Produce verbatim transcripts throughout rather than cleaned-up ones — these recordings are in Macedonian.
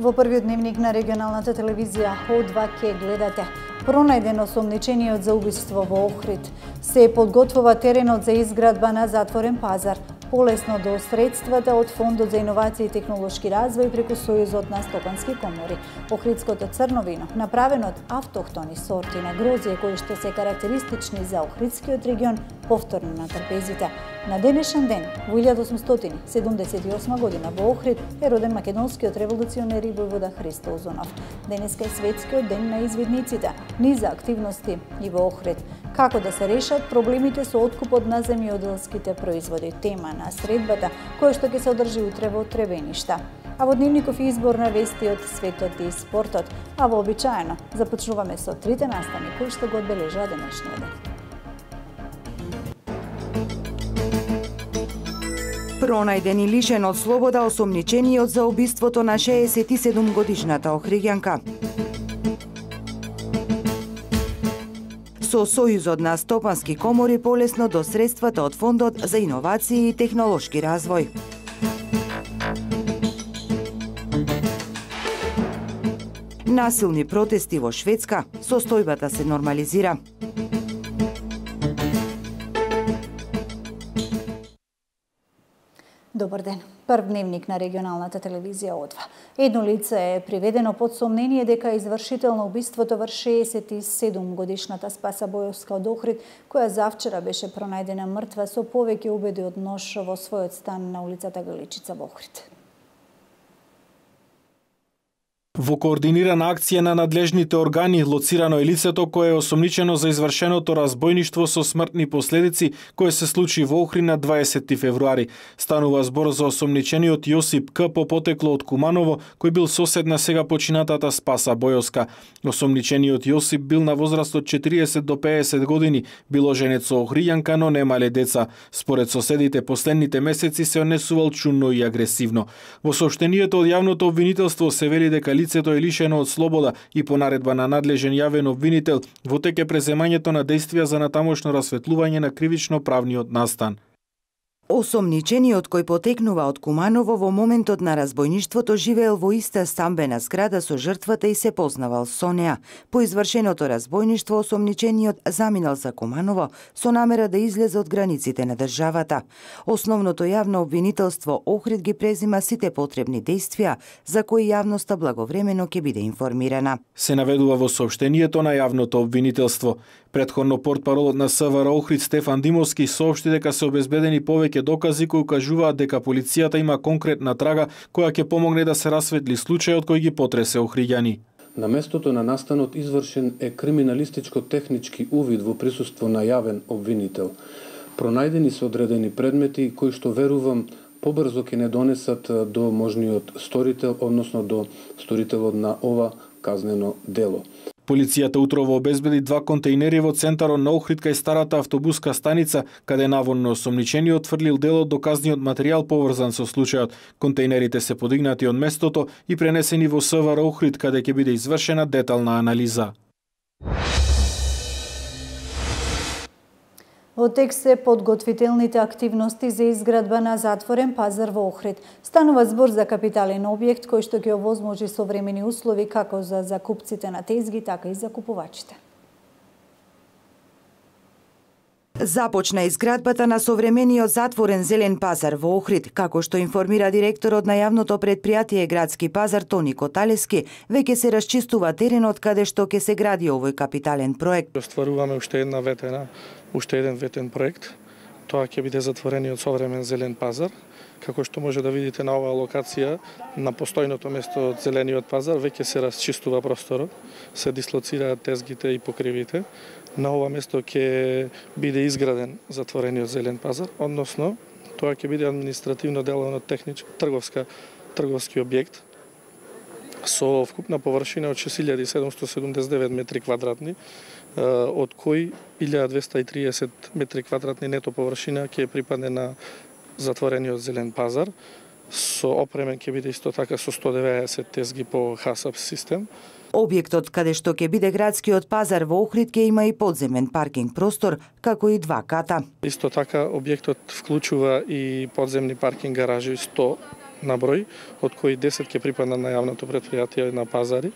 Во првиот дневник на регионалната телевизија О два ќе гледате пронајдено осомничениот за убиство во Охрид. Се подготвува теренот за изградба на затворен пазар, полесно до средствата од Фондот за иновации и технолошки развој преку Сојузот на стопански комори. Охридското црно вино, направено од автохтони сорти на грозје кои што се карактеристични за Охридскиот регион, повторно на трпезите. На денешен ден, во илјада осумстотини седумдесет и осма година во Охрид е роден македонскиот револуционер и војвода Христо Узунов. Денеска е светскиот ден на извидниците, низа активности и во Охрид. Како да се решат проблемите со откупот на земјоделските производи, тема на средбата, која што ќе се одржи утре во Требеништа. А во дневников избор на вести од светот и спортот, а вообичаено започнуваме со трите настани кои што го одбележаа денешниот ден. Пронајден и лишен од слобода осомничениот за убиството на шеесет и седум годишната охриѓанка. Со Сојузот на стопански комори полесно до средствата од Фондот за иновации и технолошки развој. Насилни протести во Шведска, состојбата се нормализира. Добар ден. Прв дневник на регионалната телевизија О два. Едно лице е приведено под сомнение дека е извршител на убиството врз шеесет и седум годишната Спаса Бојовска од Охрид, која завчера беше пронајдена мртва со повеќе убеди од нож во својот стан на улицата Галичица во Охрид. Во координирана акција на надлежните органи лоцирано е лицето кое е осомничено за извршеното разбојништво со смртни последици кое се случи во Охрид на дваесети февруари. Станува збор за осомничениот Јосип К по потекло од Куманово, кој бил сосед на сега починатата Спаса Бојовска. Осомничениот Јосип бил на возраст од четириесет до пеесет години, бил оженет со охриѓанка, но немале деца. Според соседите, последните месеци се однесувал чудно и агресивно. Во соопштението од јавното обвинителство се вели дека лицето е лишено од слобода и по наредба на надлежен јавен обвинител во тек е преземањето на действија за натамошно расветлување на кривично-правниот настан. Осомничениот кој потекнува од Куманово во моментот на разбојништвото живеел во иста стамбена зграда со жртвата и се познавал со неа. По извршеното разбојништво осомничениот заминал за Куманово со намера да излезе од границите на државата. Основното јавно обвинителство Охрид ги презима сите потребни действија за кои јавноста благовремено ќе биде информирана. Се наведува во соопштението на јавното обвинителство. Претходно портпаролот на СВР Охрид Стефан Димовски соопшти дека се обезбедени повеќе докази кои укажуваат дека полицијата има конкретна трага која ќе помогне да се расветли случајот кој ги потресе охриѓани. На местото на настанот извршен е криминалистичко-технички увид во присуство на јавен обвинител. Пронајдени се одредени предмети кои што верувам побрзо ќе не донесат до можниот сторител, односно до сторителот на ова казнено дело. Полицијата утрово обезбеди два контејнери во центарот на Охрид кај старата автобуска станица, каде наводно осомничениот тврлил дел од доказниот материјал поврзан со случајот. Контејнерите се подигнати од местото и пренесени во СВР Охрид, каде ќе биде извршена детална анализа. Во тек се подготвителните активности за изградба на затворен пазар во Охрид. Станува збор за капитален објект кој што ќе овозможи современи услови како за закупците на тезги, така и за купувачите. Започна изградбата на современиот затворен зелен пазар во Охрид, како што информира директорот на јавното предпријатие Градски пазар Тони Коталески, веќе се расчистува теренот каде што ќе се гради овој капитален проект. Остваруваме уште една ветена, уште еден ветен проект. Тоа ќе биде затворениот современ зелен пазар. Како што може да видите на оваа локација, на постојното место од зелениот пазар, веќе се расчистува просторот, се дислоцираат тезгите и покривите. На ова место ќе биде изграден затворениот зелен пазар, односно тоа ќе биде административно деловно техничко трговска трговски објект со вкупна површина од шест илјади седумстотини седумдесет и девет метри квадратни, од кои илјада двесте и триесет метри квадратни нето површина ќе припадне на затворениот зелен пазар. Со опремен ќе биде исто така со сто деветдесет тезги по ХАСАП систем. Објектот каде што ќе биде градскиот пазар во Охрид ќе има и подземен паркинг простор, како и два ката. Исто така објектот вклучува и подземни паркинг гаражи сто на број, од кои десет ќе припаднат на јавното претпријатие на пазари.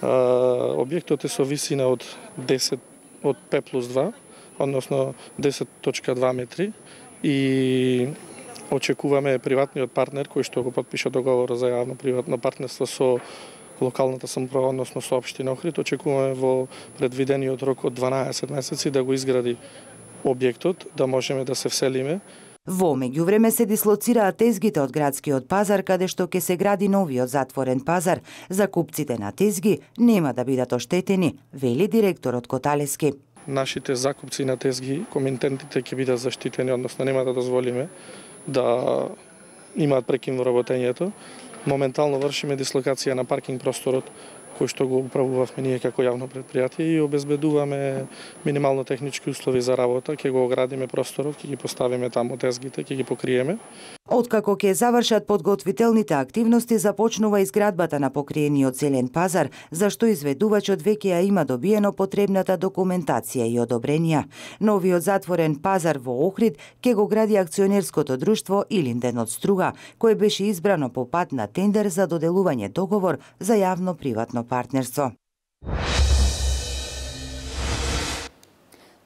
Објектот е со висина од десет од пет плюс два, односно десет точка два метри, и очекуваме приватниот партнер кој што го потпиша договор за јавно-приватно партнерство со локалната самоуправа, односно со општина Охрид, очекуваме во предвидениот рок од дванаесет месеци да го изгради објектот, да можеме да се вселиме. Во меѓувреме се дислоцираат тезгите од градскиот пазар, каде што ќе се гради новиот затворен пазар. Закупците на тезги нема да бидат оштетени, вели директорот Коталески. Нашите закупци на тезги, комитентите ќе бидат заштитени, односно нема да дозволиме да имаат прекин во работењето. Моментално вршиме дислокација на паркинг просторот, кој што го управувавме ние како јавно претпријатие, и обезбедуваме минимално технички услови за работа. Ќе го оградиме просторот, ќе ги поставиме таму тезгите, ќе ги покриеме. Откако ќе завршат подготвителните активности, започнува изградбата на покриениот зелен пазар, за што изведувачот веќе ја има добиено потребната документација и одобренија. Новиот затворен пазар во Охрид ќе го гради акционерското друштво Илинден од Струга, кое беше избрано по пат на тендер за доделување договор за јавно-приватно партнерство.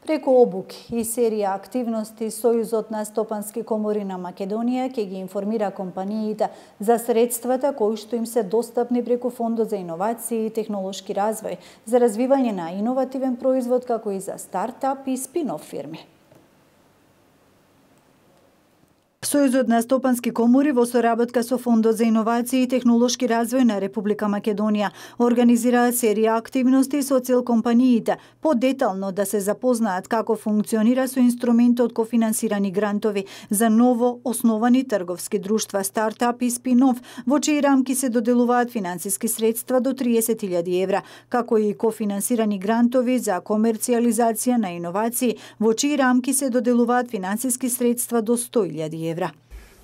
Преку обуки и серија активности, Сојузот на стопански комори на Македонија ќе ги информира компаниите за средствата кои што им се достапни преку Фондот за иновации и технолошки развој, за развивање на иновативен производ, како и за стартап и спин-оф фирми. Сојузот на стопански комори во соработка со Фондот за иновации и технолошки развој на Република Македонија организираат серија активности со цел компаниите подетално да се запознаат како функционира со инструментот кофинансирани грантови за ново основани трговски друштва, стартап и спин-оф, во чии рамки се доделуваат финансиски средства до триесет илјади евра, како и кофинансирани грантови за комерцијализација на иновации, во чии рамки се доделуваат финансиски средства до сто илјади евра.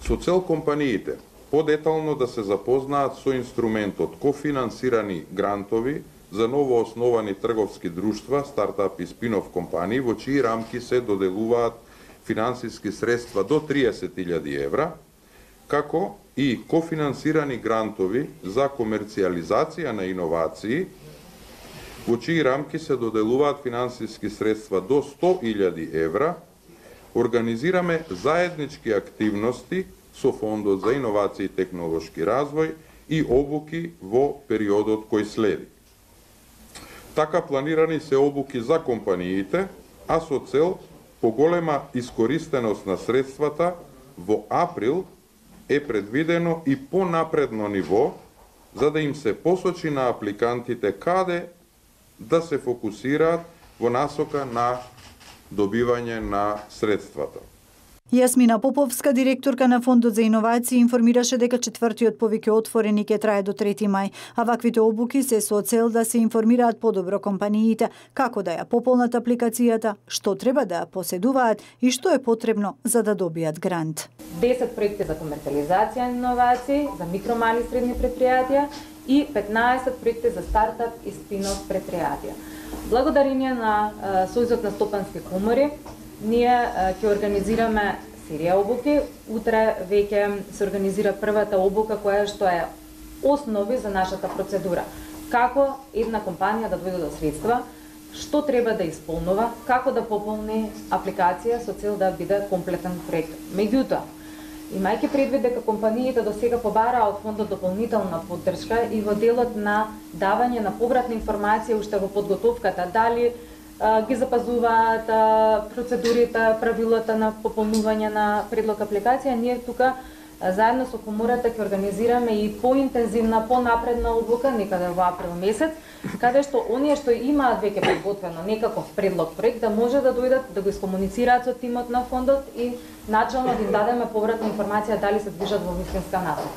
Со цел компаниите подетално да се запознаат со инструментот кофинансирани грантови за новоосновани трговски друштва, стартап и спин-оф компании, во чии рамки се доделуваат финансиски средства до триесет илјади евра, како и кофинансирани грантови за комерцијализација на иновации, во чии рамки се доделуваат финансиски средства до сто илјади евра. Организираме заеднички активности со Фондот за иновации и технолошки развој и обуки во периодот кој следи. Така планирани се обуки за компаниите, а со цел поголема искористеност на средствата, во април е предвидено и понапредно ниво, за да им се посочи на апликантите каде да се фокусираат во насока на добивање на средствата. Јасмина Поповска, директорка на Фондот за иновации, информираше дека четвртиот повик е отворен и ќе трае до трети мај, а ваквите обуки се со цел да се информираат подобро компаниите како да ја пополнат апликацијата, што треба да ја поседуваат и што е потребно за да добијат грант. десет проекти за комерцијализација на иновации, за микро, мали и средни предпријатија и петнаесет проекти за стартап и спин-оф предпријатија. Благодарение на Сојузот на стопански комори, ние ќе организираме серија обуки. Утре веќе се организира првата обука која што е основи за нашата процедура. Како една компанија да дојде до средства, што треба да исполнува, како да пополни апликација со цел да биде комплетен проект. Меѓутоа, имајќи предвид дека компаниите до сега побараа од фондот дополнителна поддршка и во делот на давање на повратна информација уште во подготовката, дали а, ги запазуваат а, процедурите, правилата на пополнување на предлог апликација, ние тука а, заедно со комората ќе организираме и поинтензивна, понапредна обука некаде во април месец, каде што оние што имаат веќе подготвено некаков предлог проект да може да дојдат да го искомуницираат со тимот на фондот и начално да им дадеме повратна информација дали се движат во вистинска насока.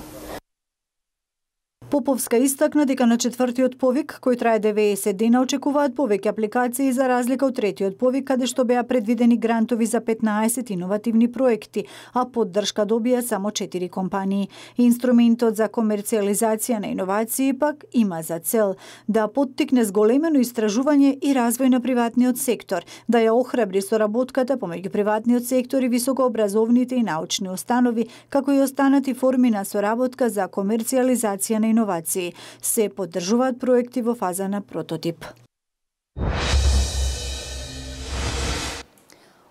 Поповска истакна дека на четвртиот повик, кој трае деветдесет дена, очекуваат повеќе апликации за разлика од третиот повик, каде што беа предвидени грантови за петнаесет иновативни проекти, а поддршка добија само четири компании. Инструментот за комерцијализација на иновации пак има за цел да поттикне зголемено истражување и развој на приватниот сектор, да ја охрабри соработката помеѓу приватниот сектор и високообразовните и научни установи, како и останати форми на соработка за комерцијализација на иновации. Се поддржуваат проекти во фаза на прототип.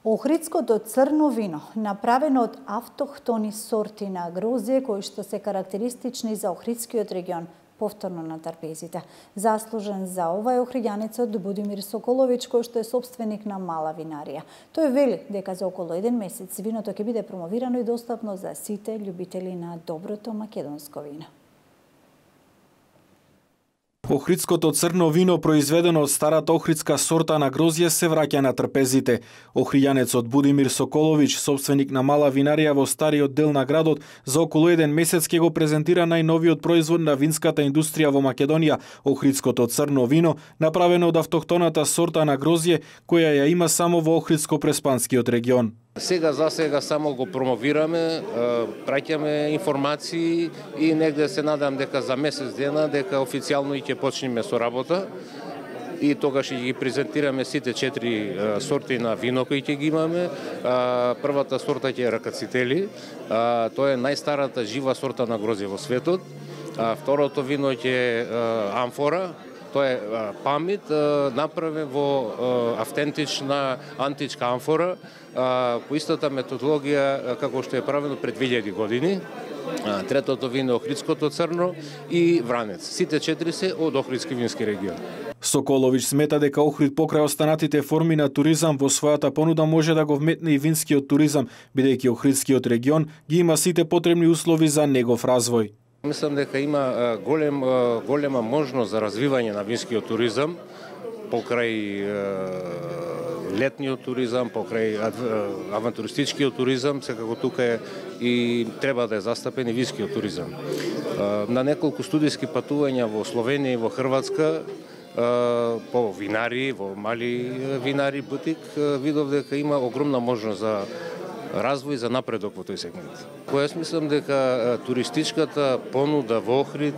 Охридското црно вино, направено од автохтони сорти на грозје кои што се карактеристични за Охридскиот регион, повторно на трпезите. Заслужен за ова е охриѓанецот Будимир Соколович, кој што е собственик на мала винарија. Тој вели дека за околу еден месец виното ќе биде промовирано и достапно за сите љубители на доброто македонско вино. Охридското црно вино, произведено од старата охридска сорта на грозје, се враќа на трпезите. Охриѓанецот Будимир Соколович, собственик на мала винарија во стариот дел на градот, за околу еден месец ќе го презентира најновиот производ на винската индустрија во Македонија, охридското црно вино, направено од автохтоната сорта на грозје, која ја има само во Охридско-Преспанскиот регион. Сега за сега само го промовираме, праќаме информации и негде се надам дека за месец дена дека официјално и ќе почнеме со работа и тогаш ќе ги презентираме сите четири сорти на вино кои ќе ги имаме. Првата сорта ќе е Ракацители, тоа е најстарата жива сорта на грозје во светот. Второто вино ќе е Амфора. Тоа е памет, направен во автентична античка амфора, по истата методологија како што е правено пред две илјади години. Третото вино е Охридското црно и Вранец. Сите четири се од Охридски вински регион. Соколович смета дека Охрид покрај останатите форми на туризам во својата понуда може да го вметне и винскиот туризам, бидејќи Охридскиот регион ги има сите потребни услови за негов развој. Мислам дека има голем, голема можност за развивање на винскиот туризам покрај летниот туризам, покрај авантуристичкиот туризам, секако тука е и треба да е застапен и винскиот туризам. На неколку студиски патувања во Словенија и во Хрватска по винари, во мали винари бутик, видов дека има огромна можност за развој, за напредок во тој сегмент. Кој мислам дека туристичката понуда во Охрид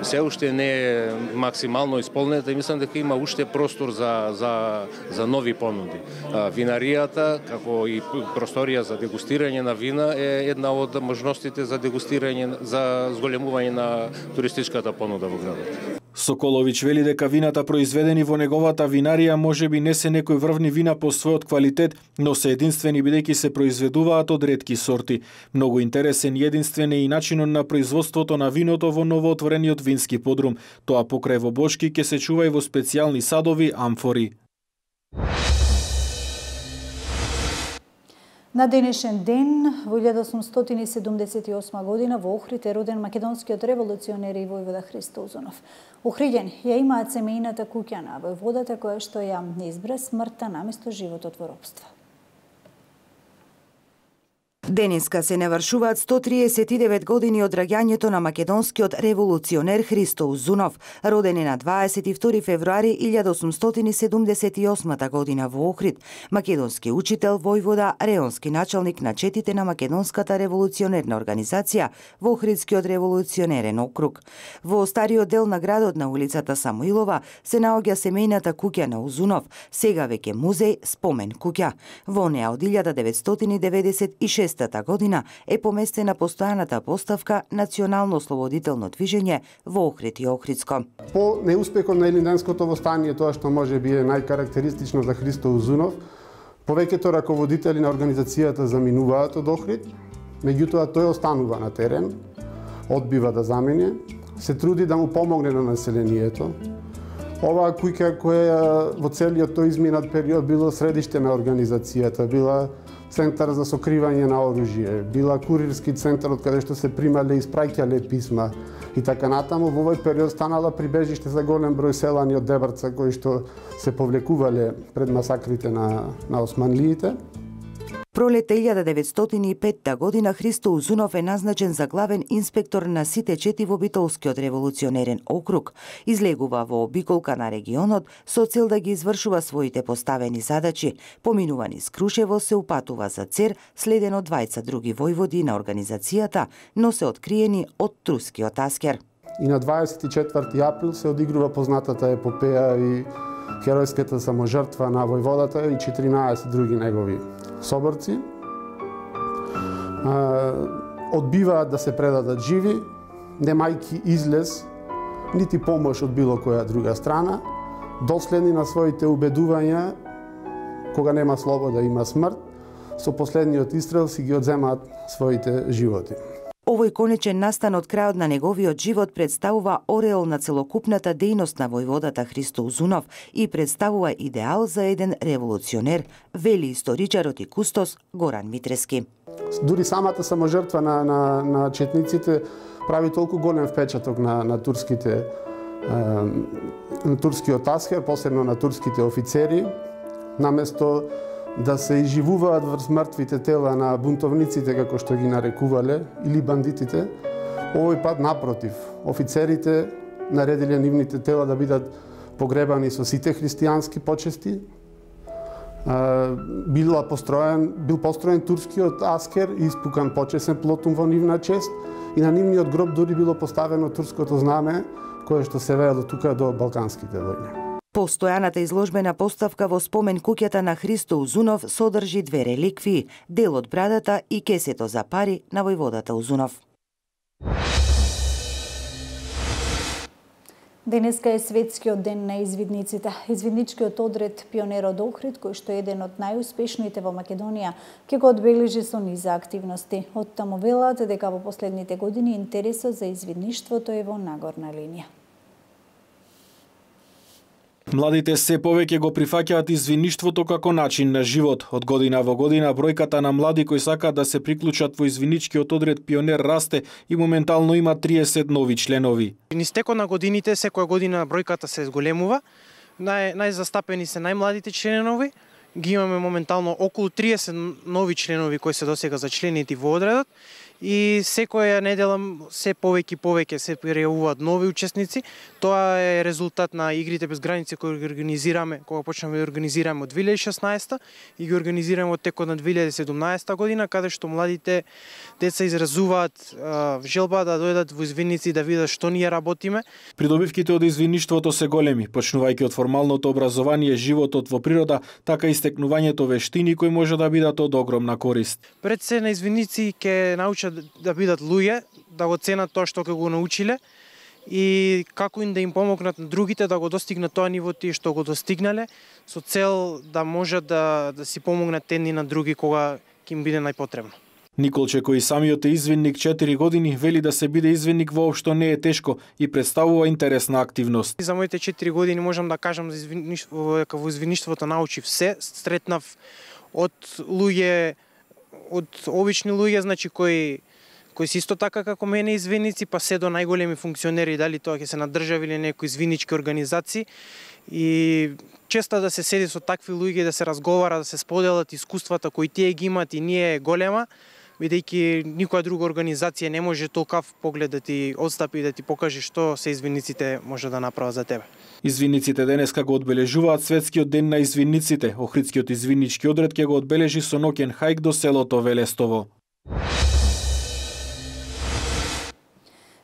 се уште не е максимално исполнета и мислам дека има уште простор за, за, за нови понуди. Винаријата, како и просторија за дегустирање на вина, е една од можностите за дегустирање, за зголемување на туристичката понуда во градот. Соколович вели дека вината произведени во неговата винарија можеби не се некои врвни вина по својот квалитет, но се единствени бидејќи се произведуваат од ретки сорти. Многу интересен и единствен е и начинот на производството на виното во новоотворениот вински подрум. Тоа покрај во бочки ќе се чува и во специјални садови амфори. На денешен ден, во илјада осумстотини седумдесет и осма година, во Охрид е роден македонскиот револуционер и војвода Христо Узунов. Охриѓани ја имаат семејната куќа на војводата која што ја избра смртта наместо животот во робство. Денеска се навршуваат сто триесет и девет години од раѓањето на македонскиот револуционер Христо Узунов, роден е на дваесет и втори февруари илјада осумстотини седумдесет и осма година во Охрид, македонски учител, војвода, реонски началник на четите на македонската револуционерна организација во Охридскиот револуционерен округ. Во стариот дел на градот на улицата Самуилова се наоѓа семејната куќа на Узунов, сега веќе музеј спомен куќа. Во неа од илјада деветстотини деветдесет и шеста година е поместена постојаната поставка Национално ослободително движење во Охрид и Охридско. По неуспехот на Илинденското востание, тоа што може би е најкарактеристично за Христо Узунов, повеќето раководители на организацијата заминуваат од Охрид, меѓутоа тој останува на терен, одбива да замине, се труди да му помогне на населението. Оваа куќа која во целиот тој изминат период било средиште на организацијата, била центар за сокривање на оружје, била курирски центар од каде што се примале и испраќале писма и така натаму. Во овој период станала прибежиште за голем број селани од Дебрца кои што се повлекувале пред масакрите на, на османлиите. пролетта илјада деветстотини и петта година Христо Узунов е назначен за главен инспектор на сите чети во Битолскиот револуционерен округ. Излегува во обиколка на регионот со цел да ги извршува своите поставени задачи. Поминува низ Крушево, се упатува за Цер, следен од двајца други војводи на организацијата, но се откриени од турскиот аскер. И на дваесет и четврти април се одигрува познатата епопеја и херојската саможртва на војводата и четиринаесет други негови соборци. Одбиваат да се предадат живи, немајки излез, нити помош од било која друга страна, доследни на своите убедувања, кога нема слобода има смрт, со последниот истрел си ги одземаат своите животи. Овој конечен настан од крајот на неговиот живот представува ореол на целокупната дејност на војводата Христо Узунов и представува идеал за еден револуционер, вели историчарот и кустос Горан Митрески. Дури самата саможртва на, на, на четниците прави толку голем впечаток на, на турските е, на турскиот аскер, посебно на турските офицери, наместо да се изживуваат врз мртвите тела на бунтовниците, како што ги нарекувале, или бандитите, овој пат напротив, офицерите наредиле нивните тела да бидат погребани со сите христијански почести. Бил построен, бил построен турскиот аскер и испукан почесен плотум во нивна чест и на нивниот гроб дури било поставено турското знаме, кое што се веело тука до балканските војни. Постојаната изложбена поставка во спомен куќата на Христо Узунов содржи две реликвии, дел од брадата и кесето за пари на војводата Узунов. Денеска е светскиот ден на извидниците. Извидничкиот одред Пионер од Охрид, кој што е еден од најуспешните во Македонија, ќе го одбележи со низа активности. Од таму велат дека во последните години интересот за извидништвото е во нагорна линија. Младите се повеќе го прифаќаат извидништвото како начин на живот. Од година во година бројката на млади кои сакаат да се приклучат во извидничкиот одред Пионер расте и моментално има триесет нови членови. Низ текот на годините секоја година бројката се зголемува. Нај, најзастапени се најмладите членови. Ги имаме моментално околу триесет нови членови кои се досега зачленети во одредот. И секоја недела се повеќе и повеќе се пријавуваат нови учесници. Тоа е резултат на игрите без граници кои ги организираме, кога почнаме да организираме од две илјади и шеснаесета и ги организираме од текот на две илјади и седумнаесета година, каде што младите деца изразуваат а, желба да дојдат во извидници да видат што ние работиме. Придобивките од извидништвото се големи, почнувајќи од формалното образование, животот во природа, така и стекнувањето вештини кои може да бидат од огромна корист. Пред се на извидници ќе научат да бидат луѓе, да го ценат тоа што ќе го научиле и како им да им помогнат на другите да го достигнат тоа ниво тие што го достигнале, со цел да можат да, да си помогнат едни на други кога ќе им биде најпотребно. Николче, кој самиот е извидник четири години, вели да се биде извидник воопшто не е тешко и представува интересна активност. За моите четири години можам да кажам за извидништво, дека во извидништвото научив се, стретнав од луѓе, од обични луѓе, значи кои кои се исто така како мене извидници, па се до најголеми функционери, дали тоа ќе се на држави или некои извиднички организации. И често да се седи со такви луѓе, да се разговара, да се споделат искуствата кои тие ги имат и ние е голема, бидејќи никоја друга организација не може толкав поглед да ти отстапи и да ти покаже што се извидниците може да направат за тебе. Извидниците денеска го одбележуваат светскиот ден на извидниците. Охридскиот извиднички одред ќе го одбележи со ноќен хајк до селото Велестово.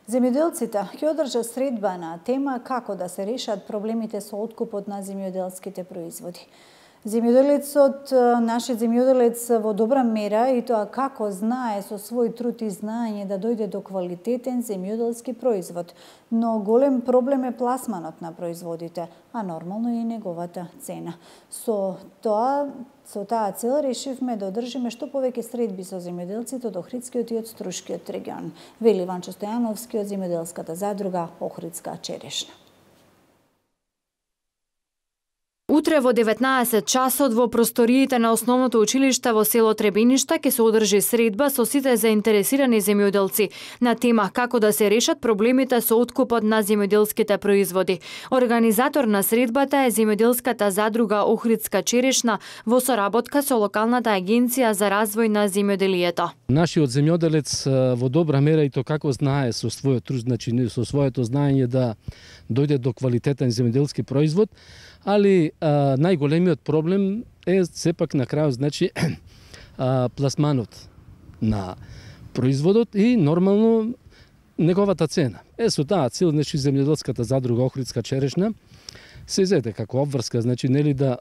Земјоделците ќе одржат средба на тема како да се решат проблемите со откупот на земјоделските производи. Земјоделецот, нашиот земјоделец во добра мера и тоа како знае со свој труд и знаење да дојде до квалитетен земјоделски производ, но голем проблем е пласманот на производите, а нормално и неговата цена. Со тоа, со таа цел решивме да одржиме што повеќе средби со земјоделците од Охридскиот и од Струшкиот регион, вели Ванчо Стојановски од земјоделската задруга Охридска черешна. Утре во деветнаесет часот во просториите на основното училиште во село Требиништа ќе се одржи средба со сите заинтересирани земјоделци на тема како да се решат проблемите со откупот на земјоделските производи. Организатор на средбата е земјоделската задруга Охридска черешна во соработка со локалната агенција за развој на земјоделието. Нашиот земјоделец во добра мера и то како знае со својот труд, значи со своето знаење да дојде до квалитетен земјоделски производ, али а, најголемиот проблем е сепак на крајот, значи а, пласманот на производот и нормално неговата цена. Е со таа цел, значи земјоделската задруга Охридска черешна се зете како обврска, значи нели да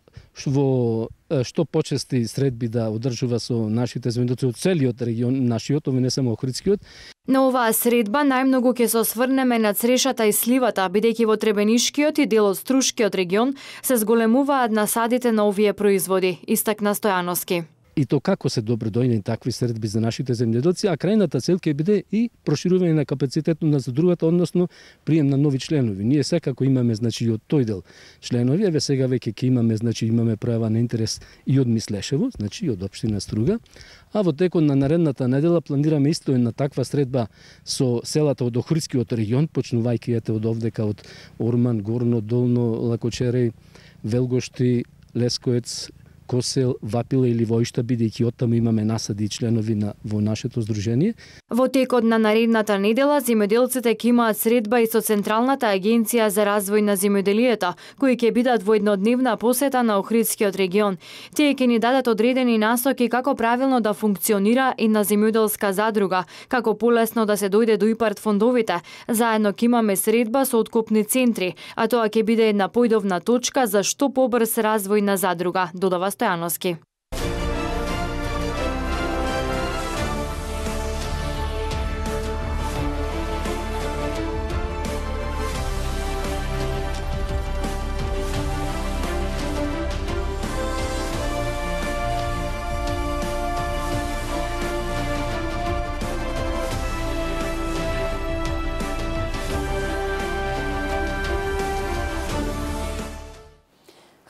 во што почести средби да одржува со нашите земјоделци од целиот регион, нашиот, не само Охридскиот. На оваа средба најмногу ќе се осврнеме на црешата и сливата, бидејќи во Требенишкиот и дел од Струшкиот регион се зголемуваат насадите на овие производи, истакна Стојановски. И то како се добро дојдени такви средби за нашите земјоделци, а крајната цел ќе биде и проширување на капацитетот на задрugата, односно прием на нови членови. Ние секако имаме, значи, и од тој дел членови, еве сега веќе ќе имаме, значи, имаме пројава на интерес и од Мислешево, значи и од општина Струга, а во текот на наредната недела планираме исто една таква средба со селата од Охридскиот регион, почнувајќи ете од овдека од Орман, Горно, Долно, Лакочереј, Велгошти, Лескоец, Косел, Вапила или Војшта, бидејќи оттаму имаме насади и членови на во нашето здружение. Во текот на наредната недела земјоделците ќе имаат средба и со Централната агенција за развој на земјоделието, кои ќе бидат во еднодневна посета на Охридскиот регион. Тие ќе ни дадат одредени насоки како правилно да функционира и на земјоделска задруга, како полесно да се дојде до ИПАРД фондовите. Заедно ќе имаме средба со откупни центри, а тоа ќе биде една појдовна точка за што побрз развој на задруга, додава Стојановски.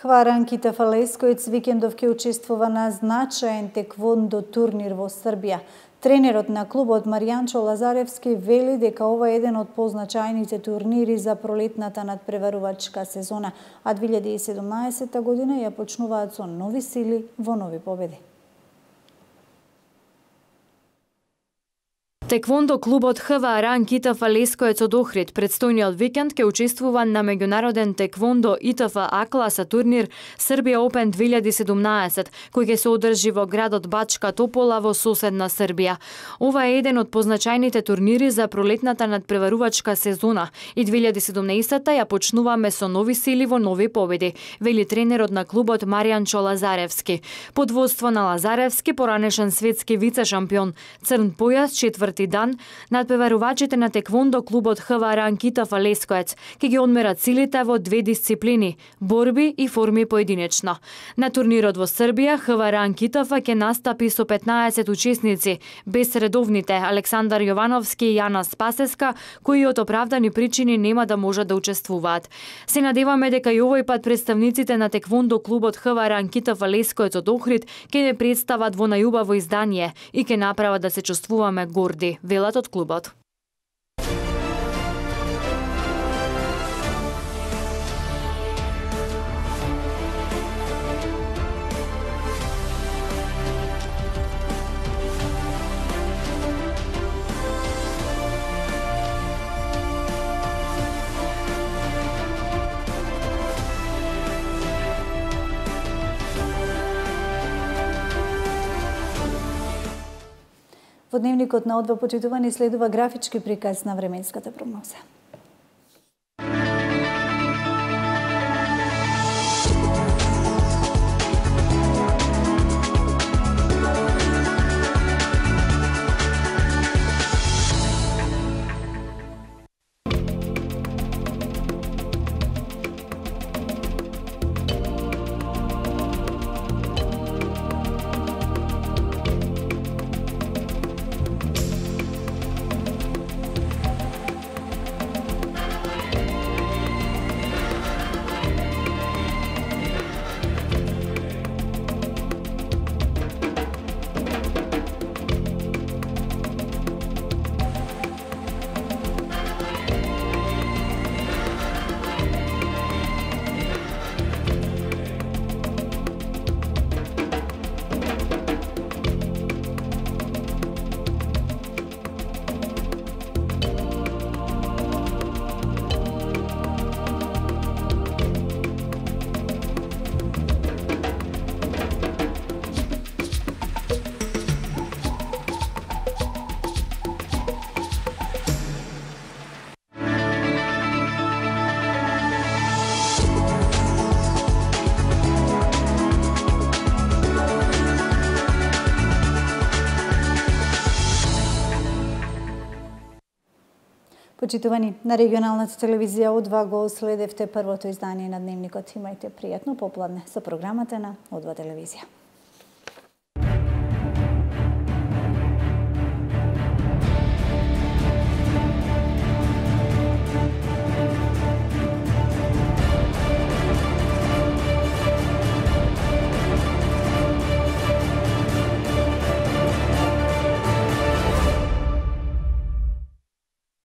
Хваранките Фалескоец викендов ќе учествува на значаен теквондо турнир во Србија. Тренерот на клубот Маријанчо Лазаревски вели дека ова е еден од позначајните турнири за пролетната надпреварувачка сезона, а две илјади и седумнаесетта година ја почнуваат со нови сили во нови победи. Теквондо клубот ХВ Ранкитф Лескоец од Охрид предстојниот викенд ќе учествува на меѓународен теквондо ИТФ А класа турнир Србија Опен две илјади и седумнаесет, кој ќе се одржи во градот Бачка Топола во соседна Србија. Ова е еден од позначајните турнири за пролетната надпреварувачка сезона и две илјади и седумнаесетта ја почнуваме со нови сили во нови победи, вели тренерот на клубот Маријанчо Лазаревски. Под водство на Лазаревски, поранешен светски вице-шампион, црн појас, четврти дан, надпреварувачите на теквондо клубот ХВ Ранкитф Лескоец ќе ги одмерат силите во две дисциплини – борби и форми поединечно. На турнирот во Србија ХВ Ранкитф ќе настапи со петнаесет учесници, без редовните Александар Јовановски и Јана Спасеска, кои од оправдани причини нема да можат да учествуваат. Се надеваме дека и овој пат представниците на теквондо клубот ХВ Ранкитф Лескоец од Охрид ќе не представат во најубаво издание и ќе направат да се чувствуваме горди, велат од клубот. Во дневникот на О два почитувани следува графички приказ на временската прогноза. Почитувани, на регионалната телевизија О два го следевте првото издание на Дневникот. Имајте пријатно попладне со програмата на О два телевизија.